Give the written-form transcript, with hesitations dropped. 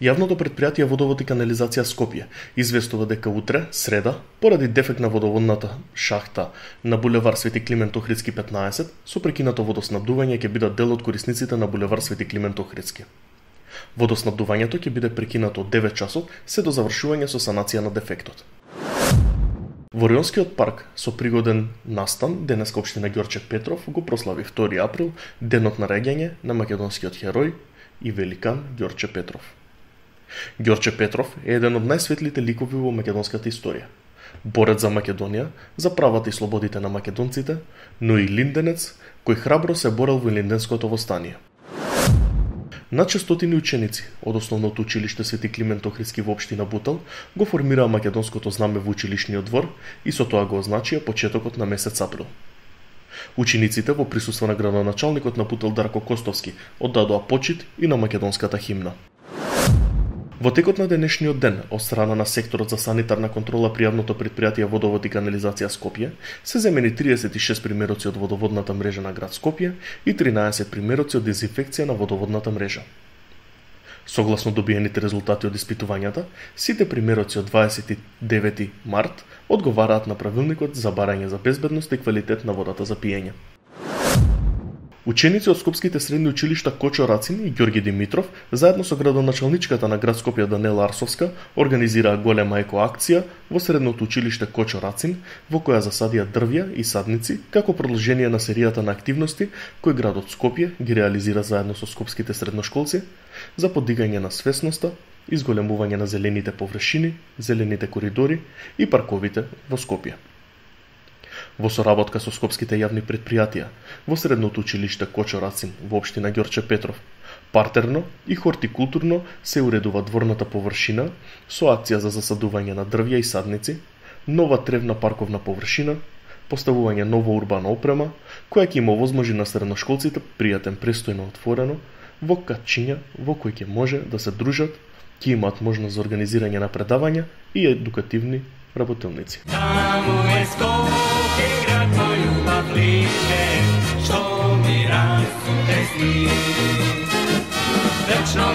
Јавното предпријатие Водовод и канализација Скопје известува дека утре, среда, поради дефект на водоводната шахта на булевар Свети Климент Охридски 15, со прекинато водоснабдување ќе бидат дел од корисниците на булевар Свети Климент Охридски. Водоснабдувањето ќе биде прекинато од 9 часот се до завршување со санација на дефектот. Во Рионскиот парк со пригоден настан денеска општина Ѓорче Петров го прослави 2 април денот на реѓање на македонскиот херој и великан Ѓорче Петров. Ѓорче Петров е еден од најсветлите ликови во македонската историја. Борец за Македонија, за правата и слободите на македонците, но и линденец кој храбро се борел во линденското востание. Над 600 ученици од основното училиште Свети Климент Охридски во општина Бутел го формираа македонското знаме во училишниот двор и со тоа го означија почетокот на месец април. Учениците во присуство на градоначалникот на Бутел Дарко Костовски оддадоа почит и на македонската химна. Во текот на денешниот ден, од страна на секторот за санитарна контрола при јавното предпријатие Водовод и канализација Скопје, се земени 36 примероци од водоводната мрежа на град Скопје и 13 примероци од дезинфекција на водоводната мрежа. Согласно добиените резултати од испитувањата, сите примероци од 29 март одговараат на правилникот за барање за безбедност и квалитет на водата за пиење. Ученици од скопските средни училишта Кочо Рацин и Ѓорги Димитров, заедно со градоначалничката на град Скопје Данела Арсовска, организираа голема еко-акција во средното училиште Кочо Рацин, во која засадија дрвја и садници како продолжение на серијата на активности кои градот Скопје ги реализира заедно со скопските средношколци за подигање на свесноста, изголемување на зелените површини, зелените коридори и парковите во Скопје. Во соработка со скопските јавни предпријатија, во средното училиште Кочо Рацин во општина Ѓорче Петров, партерно и хортикултурно се уредува дворната површина со акција за засадување на дрвја и садници, нова тревна парковна површина, поставување нова урбана опрема, која ќе им овозможи на средношколците пријатен престојно отворено, во катчиња во кои ќе може да се дружат, ќе имаат можност за организирање на предавања и едукативни работилници. Таму е Скопје, град мој љубав лише, што ми расте сни. Вечно